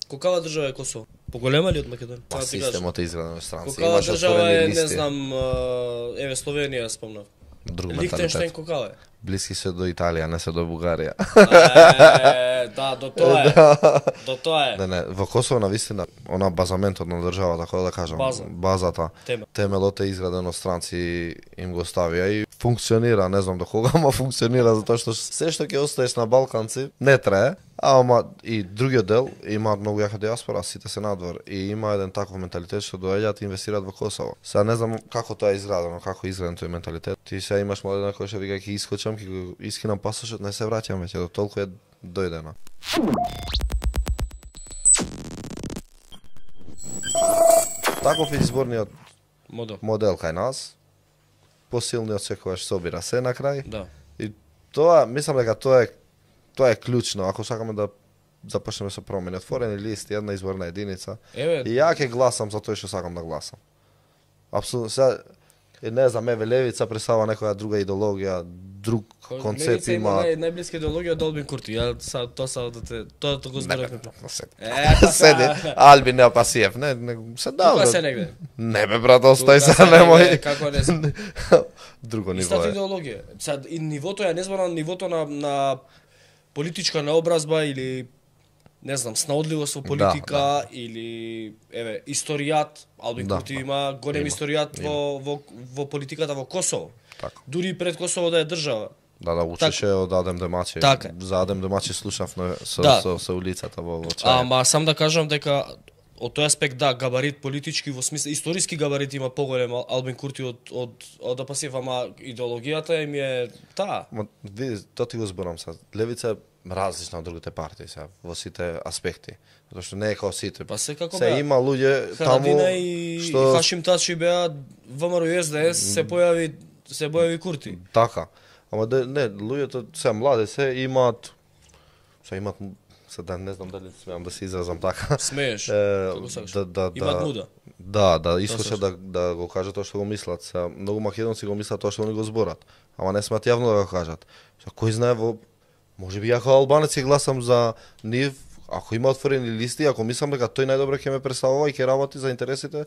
Каква држава е Косово? Поголема ли од Македонија? Па системот е изграден од странци. Каква држава е, не знам, еве Словенија спомнав. Друг Лихтенштейн менталитет. каква е? Блиски се до Италија, не се до Бугарија. Да, до тоа е. До тоа е. Не, во Косово навистина, она базаментот на државата, како да кажам, базата, темелот е изграден од странци, им го ставија и функционира, не знам до кога, ама функционира затоа што се што ќе остаеш на Балканци не трае, ама и другиот дел имаат многу јака диаспора, сите се надвор и има еден таков менталитет што доаѓаат и инвестираат во Косово. Сега не знам како тоа е изградено, како е изграден тој менталитет. Ти сега имаш младина кој што вика ќе искочам, ќе го искинам пасошот, не се враќам веќе, до толку е дојдено. Таков е изборниот модел кај нас. Посилниот секогаш собира се на крај. Да. И тоа, мислам дека тоа е клучно, ако сакаме да започнеме со промени, отворени листи, една изборна единица. И ја ќе гласам за тој што сакам да гласам. Апсолутно, сега не знам, еве левица представува некоја друга идеологија, друг концепт има. Најблиска идеологија од Албин Курти. Ја тоа го зборевме. Седи, Албин Неопасиев, не се дава. Тука се негде. Не бе брат, остај се, немој. Како не се. Друго ниво Истата е. идеологија. Сад и нивото ја не зборам нивото на политичка наобразба или не знам, снаодливост во политика или еве историјат. Албин Курти има голем историјат во политиката во Косово. Така. Дури пред Косово да е држава. Да, учеше од Адем Демачи. За Адем Демачи слушавме со улицата во чај. Ама сам да кажам дека од тој аспект да, габарит политички во смисла историски габарит има поголем Албин Курти од Апасиев, ама идеологијата им е таа. Ма види, тоа ти го зборам сега. Левица е различна од другите партии сега во сите аспекти. Затоа што не е како сите. Па секако се има луѓе таму што Хашим Тачи беа ВМРО и СДС, се појави Курти. Така. Ама не, луѓето се млади се имаат да не знам дали смеам да се изразам така. Смееш. Како сакаш. Имаат муда. Да, искаше да го кажат тоа што го мислат. Се многу македонци го мислат тоа што они го зборат, ама не смеат јавно да го кажат. Кој знае можеби ја како албанец ќе гласам за нив, ако има отворени листи, ако мислам дека тој најдобро ќе ме представува и ќе работи за интересите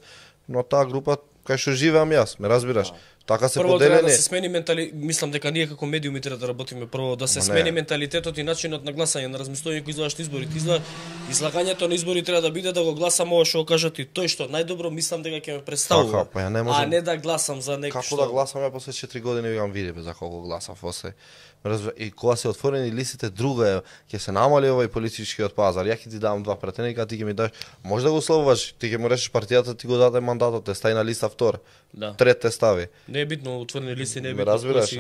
на таа група кај што живеам јас, ме разбираш? Така се поделени. Прво треба да се смени мислам дека ние како медиуми треба да работиме прво да се смени менталитетот и начинот на гласање, на размислување кои излagаш изборите. Излагањето на избори треба да биде да го гласам ова што го кажат и тој што најдобро мислам дека ќе ме представува. Така, па ја не можам. А не да гласам за некој што. Како да гласам ја после 4 години викам види за колку гласам после. И кога се отворени листите друго е, ќе се намали овој политичкиот пазар. Ја ќе ти дам два пратеника, ти ќе ми даш. Може да го слобуваш, ти ќе му решиш партијата, ти го даде мандатот, те стаи на листа втор. Да. Трет те стави. Не е битно отворени листи, не е битно. Разбираш,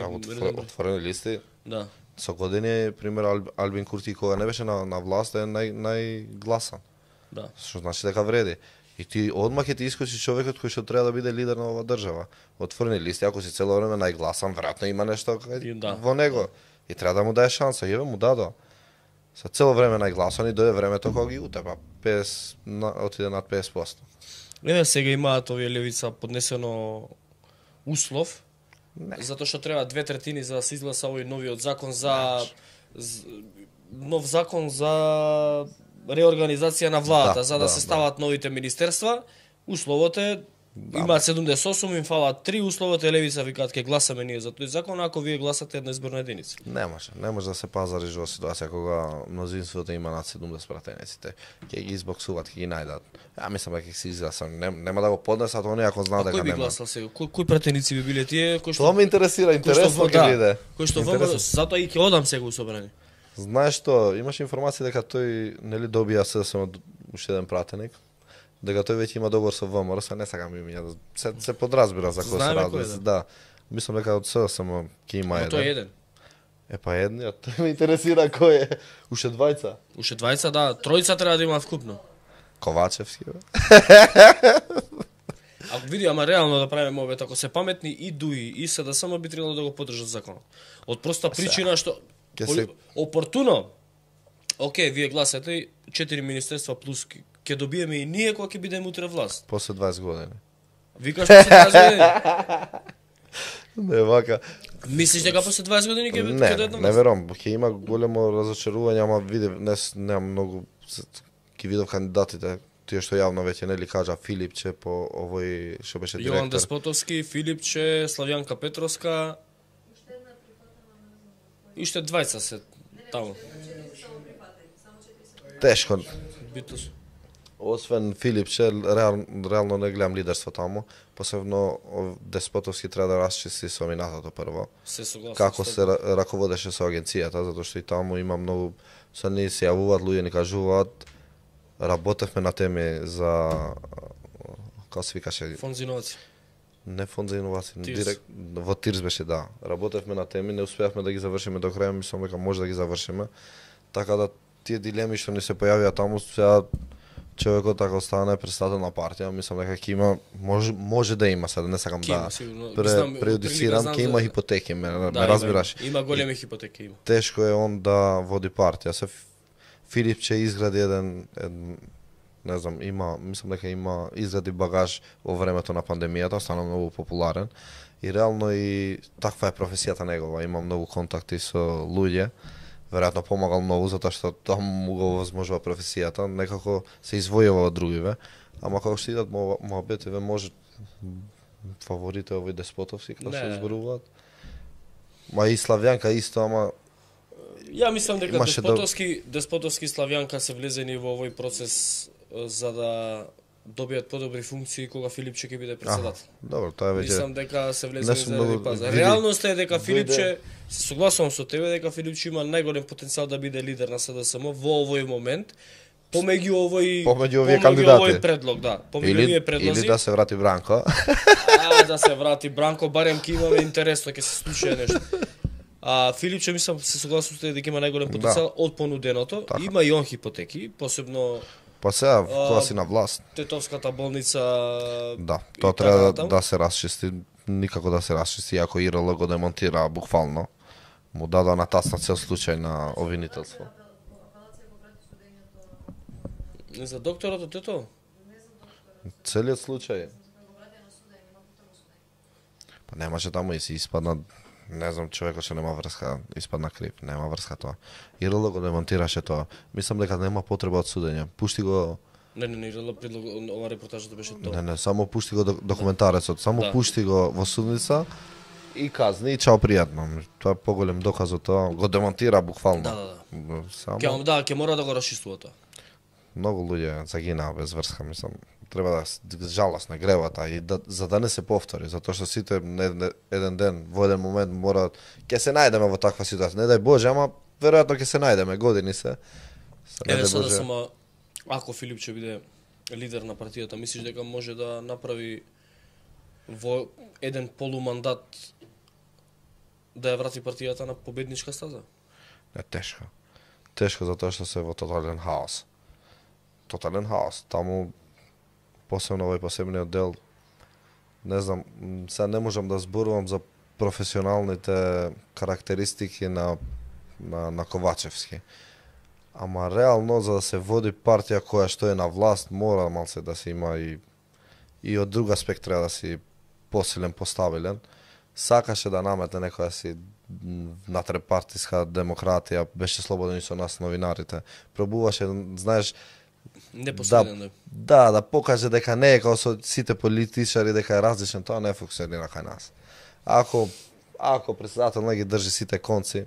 отворени листи. Да. Со години, пример Албин Курти кога не беше на власт е најгласан. Да. Што значи дека вреди. И ти одма ќе ти искочи човекот кој што треба да биде лидер на оваа држава. Отворени листи, ако си цело време најгласан, веројатно има нешто во него. И треба да му даде шанса, еве му дадо. Со цело време најгласан и дое времето кога ги утепа, отиде над 50%. Еве сега имаат овие левица поднесено услов, затоа што треба 2/3 за да се изгласа овој новиот закон нов закон за реорганизација на владата, за да се стават новите министерства. Условот е имаат 78, им фалат 3, условот е левица викаат ќе гласаме ние за тој закон, ако вие гласате една изборна единица. Не може да се пазариш во ситуација кога мнозинството има над 70 пратениците. Ќе ги избоксуваат, ќе ги најдат. Ја мислам дека ќе се изгласам, нема да го поднесат оние ако знаат дека нема. Кој би гласал сега? Кои пратеници би биле тие кои што тоа ме интересира, интересно ќе биде. Кој што затоа и ќе одам сега у собрание. Знаеш што, имаш информација дека тој нели добија СДСМ уште еден пратеник, дека тој веќе има договор со ВМРО, не сакам имиња, се подразбира за кој се ради. Да. Мислам дека од СДСМ ќе има еден. Тој е еден. Па едниот, тој ме интересира кој е. Уште двајца. Уште двајца, да, тројца треба да имаат вкупно. Ковачевски, бе. Ако види, ама реално да правиме овие, ако се паметни и ДУИ и СДСМ би требало да го поддржат законот. Од проста причина што опортуно. Океј, вие гласате 4 министерства плюс ќе добиеме и ние кога ќе бидеме утре власт. После 20 години. Викаш после 20 години? Не вака. Мислиш дека после 20 години ќе дојде власт? Не верувам, ќе има големо разочарување, ама види, немам многу ги видов кандидатите, тие што јавно веќе нели кажа Филипче по овој што беше директор. Јован Деспотовски, Филипче, Славјанка Петровска. И уште двајца се таму. Тешко. Битос. Освен Филипче, реално не гледам лидерство таму. Посебно Деспотовски треба да расчисти со минатото прво. Се согласен. Како се раководеше со агенцијата, затоа што и таму има многу се не се јавуваат луѓе, ни кажуваат. Работевме на теми за како се викаше? Фонд за иновации. Не фонд за иновации, директ во ТИРС беше, да. Работевме на теми, не успеавме да ги завршиме до крај, мислам дека може да ги завршиме. Така да тие дилеми што ни се појавија таму, сега човекот ако стане председател на партија, мислам дека ќе има може да има, сега не сакам да преюдицирам, ќе има хипотеки, ме разбираш. Има големи хипотеки, има. Тешко е он да води партија. Се Филипче изгради еден не знам, мислам дека има изгради багаж во времето на пандемијата, стана многу популарен и реално и таква е професијата негова, има многу контакти со луѓе. Веројатно помагал многу затоа што таму го возможува професијата, некако се извојува од другиве, ама како што идат моабетиве може фаворите овој Деспотовски како се зборуваат. Ма и Славјанка исто, ама ја мислам дека Деспотовски и Славјанка се влезени во овој процес за да добијат подобри функции кога Филипче ќе биде председател. Добро, тоа веќе. Мислам дека се влезени за да пазар. Реалноста е дека Филипче, се согласувам со тебе дека Филипче има најголем потенцијал да биде лидер на СДСМ во овој момент. Помеѓу овој кандидати. Овој предлог, да. Помеѓу овие предлози. Или да се врати Бранко. Да се врати Бранко, барем ќе имаме интересно, ќе се случи нешто. Филипче мислам се согласувам со тебе дека има најголем потенцијал од понуденото. Има и он хипотеки, посебно Па сега, кога си на власт. Тетовската болница. Да, тоа треба да се расчисти, никако да се расчисти, ако ИРЛ го демонтира буквално. Му дадоа на тасна цел случај на обвинителство. Не за докторот од Тето? Целиот случај. Па немаше таму и си испадна, не знам, човекот што нема врска, испадна крив, нема врска тоа. ИРЛ го демонтираше тоа. Мислам дека нема потреба од судење. Пушти го. Не, ИРЛ предлог, ова репортажата беше тоа. Не, само пушти го документарецот, само пушти го во судница и казни и чао пријатно. Тоа е поголем доказ од тоа, го демонтира буквално. Да. Само Ќе мора да го расчистува тоа. Многу луѓе загинаа без врска, мислам. Треба да жалост на гревата и за да не се повтори, затоа што сите еден ден, во еден момент мора ќе се најдеме во таква ситуација. Не дај Боже, ама веројатно ќе се најдеме, години се. Еве сега само ако Филипче биде лидер на партијата, мислиш дека може да направи во еден полумандат да ја врати партијата на победничка стаза? Не, тешко. Тешко затоа што се во тотален хаос. Таму посебно овој посебниот дел, не знам, сега не можам да зборувам за професионалните карактеристики на Ковачевски. Ама реално за да се води партија која што е на власт, мора малце да се има и од друг аспект треба да си посилен, постабилен. Сакаше да наметне некоја си натрепартиска демократија, беше слободен и со нас новинарите. Пробуваше, знаеш, да покаже дека не е како со сите политичари, дека е различен, тоа не функционира кај нас. Ако председател не ги држи сите конци,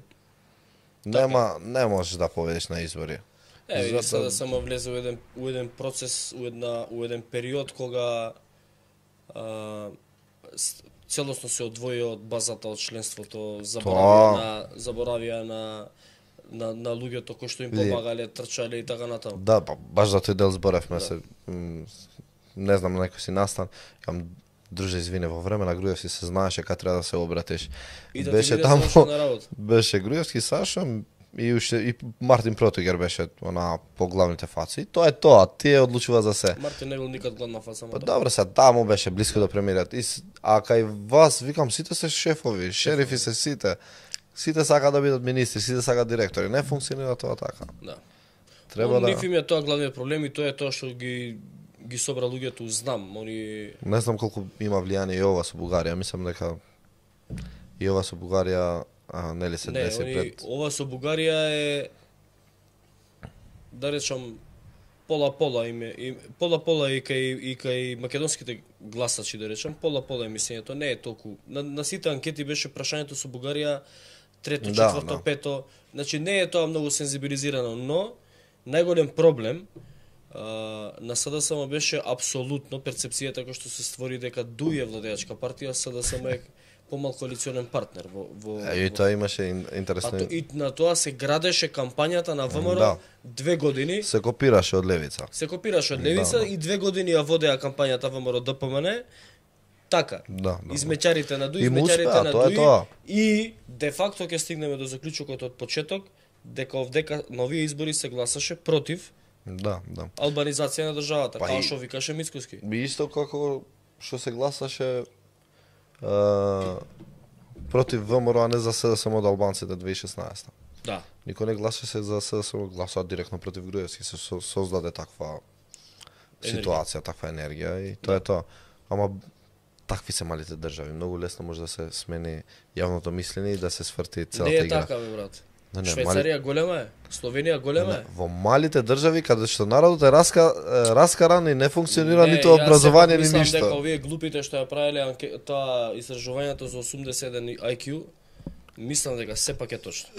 не можеш да победиш на избори. И сега само влезе у еден процес, у еден период кога целосно се одвои од базата од членството, заборавија на луѓето кои што им помагале, трчале и така натаму. Да, баш за тој дел зборевме се. Не знам, на некој си настан, кам друже, извине, во време на Груевски се знаеше кај треба да се обратиш. И да беше таму, беше Груевски, Саша и Мартин Протигер беше на поглавните фаци. Тоа е тоа, тие одлучува за се. Мартин не бил никад главна фаца. Па добре, се таму беше близко до премиерот. А кај вас, викам, сите се шефови, шерифи се сите. Сите сака да бидат министри, сите сака директори. Не функционира тоа така. Да. Треба да. Ниф им е тоа главниот проблем и тоа е тоа што ги собра луѓето, знам, они не знам колку има влијание и ова со Бугарија, мислам дека и ова со Бугарија нели се деси пред. Ова со Бугарија е, да речам, пола-пола и кај македонските гласачи, да речем, пола-пола мислењето, не е толку. На сите анкети беше прашањето со Бугарија трето, четврто, пето, значи не е тоа многу сензибилизирано, но најголем проблем на СДСМ беше апсолутно перцепцијата која што се створи дека дуе владеачка партија, СДСМ е помал коалиционен партнер во и тоа имаше интересно. И на тоа се градеше кампањата на ВМРО 2 години. Се копираше од левица. И 2 години ја водеа кампањата ВМРО ДПМН. Така. Измечарите на Дуи, измечарите на Дуи. И де факто ќе стигнеме до заклучокот од почеток дека овдека на овие избори се гласаше против албанизација на државата, како што викаше Мицкоски. Исто како што се гласаше против ВМРО, а не за СДСМ од албанците 2016. Да. Никој не гласаше за СДСМ, гласува директно против Груевски, се создаде таква ситуација, таква енергија и тоа е тоа. Ама такви се малите држави, многу лесно може да се смени јавното мислење и да се сврти целата игра. Не е така, бе, брат. Швајцарија голема е, Словенија голема е. Во малите држави каде што народот е раскаран и не функционира ниту образование ни ништо. Мислам дека овие глупите што ја правеле тоа истражувањето за 81 IQ, мислам дека сепак е точно.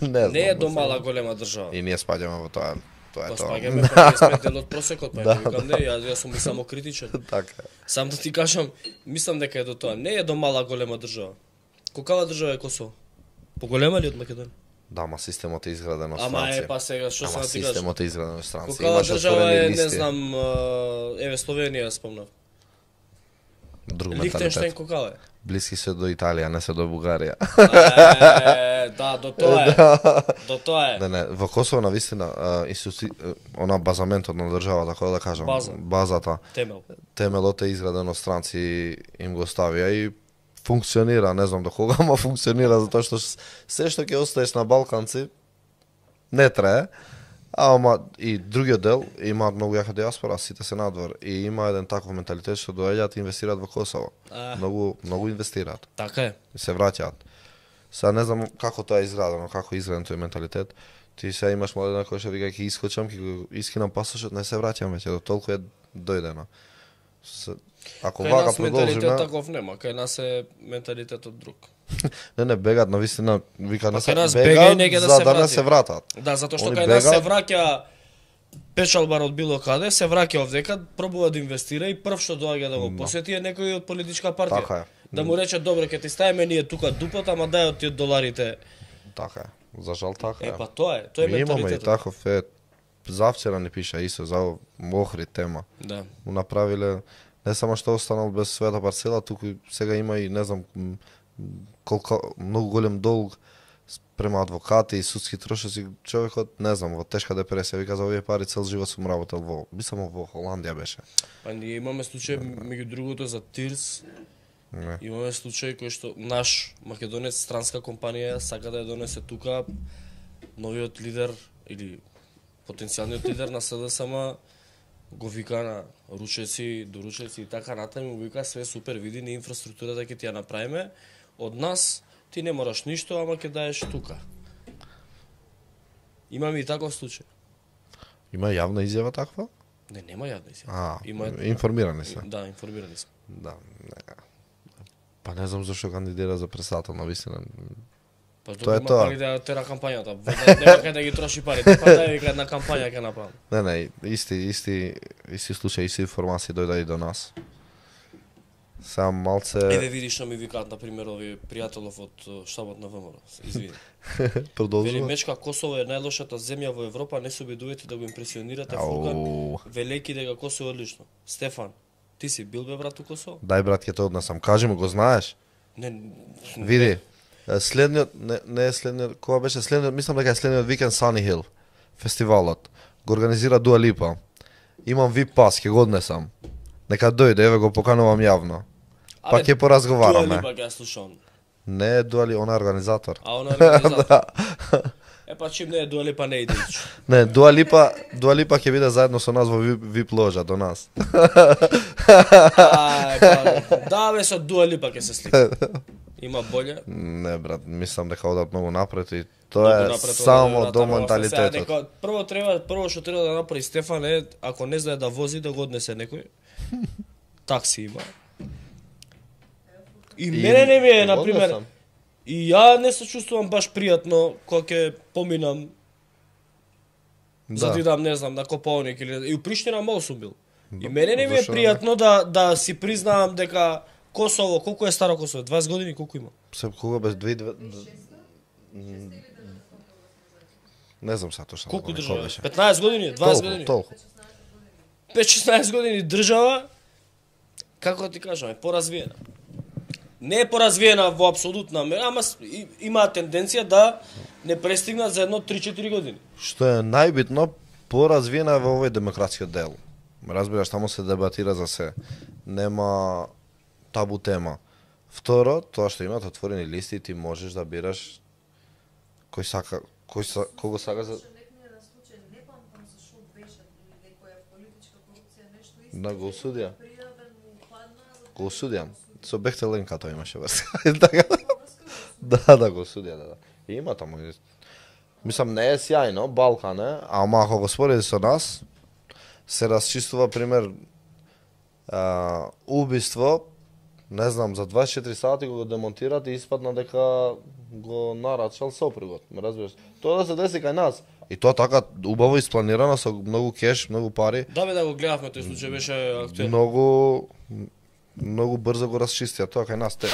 Не е до мала голема држава. И ние спаѓаме во тоа. Тоа е тоа. Спаѓаме, па сме дел од просекот, па викам не, јас сум само критичен. Така. Сам да ти кажам, мислам дека е до тоа. Не е до мала голема држава. Колкава држава е Косово? Поголема ли од Македонија? Да, ма системот е изграден од странци. Ама е, па сега, што сам ти кажам? Системот е изграден од странци. Колкава држава е, не знам, еве Словенија спомнав. Друг Лихтенштейн колкава е? Блиски се до Италија, не се до Бугарија. Да, до тоа е. До тоа е. Не, во Косово навистина она базаментот на државата, како да кажам, базата, темелот е изграден од странци, им го ставија и функционира, не знам до кога, ама функционира затоа што се што ќе оставиш на балканци не трае. Ама и другиот дел имаат многу јака диаспора, сите се надвор и има еден таков менталитет што доаѓаат и инвестираат во Косово. Многу инвестираат. Така е. И се враќаат. Сега не знам како тоа е изградено, како е изграден тој менталитет. Ти сега имаш младина кој што вика ќе искочам, ќе го искинам пасошот, не се враќам веќе, до толку е дојдено. Ако вака продолжиме, менталитет таков нема, кај нас е менталитетот друг. Не, бегат навистина, вика не се бегаат за да не се вратат. Да, затоа што кај нас се враќа печалбар од било каде, се враќа овдека, пробува да инвестира и прв што доаѓа да го посети е некој од политичка партија. Така е. Да му рече добро, ќе ти ставиме ние тука дупот, ама дај од тие доларите. Така е. За жал така е. Па тоа е менталитетот. Имаме и таков завчера ни пиша Исо за Охрид тема. Да. Му направиле не само што останал без својата парцела, туку сега има и не знам колку многу голем долг према адвокати и судски трошоци. Човекот не знам во тешка депресија, вика за овие пари цел живот сум работел мислам во Холандија беше. Па ние имаме случај меѓу другото за Тирс. Имаме случај кој што наш македонец странска компанија сака да ја донесе тука новиот лидер или потенцијалниот лидер на СДСМ го вика на ручеци, доручеци и така натаму, му вика све супер, види ни инфраструктурата ќе ти ја направиме, од нас ти не мораш ништо, ама ќе даеш тука. Имаме и таков случај. Има јавна изјава таква? Не, нема јавна изјава. Информирани се. Да, информирани сме. Да, не. Па не знам зашто кандидира за председател на вистина. Па тоа е тоа. Пари да тера кампањата. Нема кај да ги троши парите. Па да вика една кампања ќе направи. Не, исти случај, исти информации дојде и до нас. Сам малце. Еве видиш што ми викаат на пример овие пријателов од штабот на ВМРО. Извини. Продолжува. Вели мечка Косово е најлошата земја во Европа, не се обидувате да го импресионирате Фуркан, велејќи дека Косово е одлично. Стефан, ти си бил бе брат у Косово? Дај брат ќе те однесам. Кажи му, го знаеш? Не. Види. Следниот не е следниот, кога беше следниот, мислам дека е следниот викенд Sunny Hill фестивалот. Го организира Дуа Липа. Имам VIP пас, ќе го однесам. Нека дојде, еве го поканувам јавно. Па ќе поразговараме. Дуа Липа ќе слушам. Не е Дуа Липа, она е организатор. Она е организатор. Па чим не е Дуа Липа, не иде. Не, Дуа Липа ќе биде заедно со нас во VIP ложа до нас. Да бе, со Дуа Липа ќе се слика. Има боле? Не, брат, мислам дека одат многу напред и тоа е само до менталитетот. Прво што треба да направи Стефан е, ако не знае да вози, да го однесе некој. Такси има. И мене не ми е, например, и ја не се чувствувам баш пријатно кога ќе поминам за да идам, не знам, на Копалник или и у Приштина мал сум бил. И мене не ми е пријатно да си признавам дека Косово, колку е старо Косово? 20 години, колку има? Се кога без 2 не знам са точно. Колку држава? 15 години, 20 години. Толку. 5-16 години држава, како ти кажам, е поразвиена. Не е поразвиена во апсолутна мера, ама има тенденција да не престигнат за едно 3-4 години. Што е најбитно, поразвиена е во овој демократски дел. Разбираш, таму се дебатира за се. Нема табу тема. Второ, тоа што имат отворени листи, ти можеш да бираш кој кого сака за... Да, го осудија. Го осудија. Со Бехтел Ленка тоа имаше врска. Да, го осудија, да. И има таму. Мислам, не е сјајно, Балкан е, ама ако го спореди со нас, се расчистува, пример, убиство, не знам, за 24 сати го демонтират и испадна дека го нарачал сопругот, ме разбираш? Тоа да се деси кај нас. И тоа така убаво испланирано со многу кеш, многу пари. Да бе, да го гледавме, тој случај беше актуелен. Многу брзо го расчистија тоа кај нас те.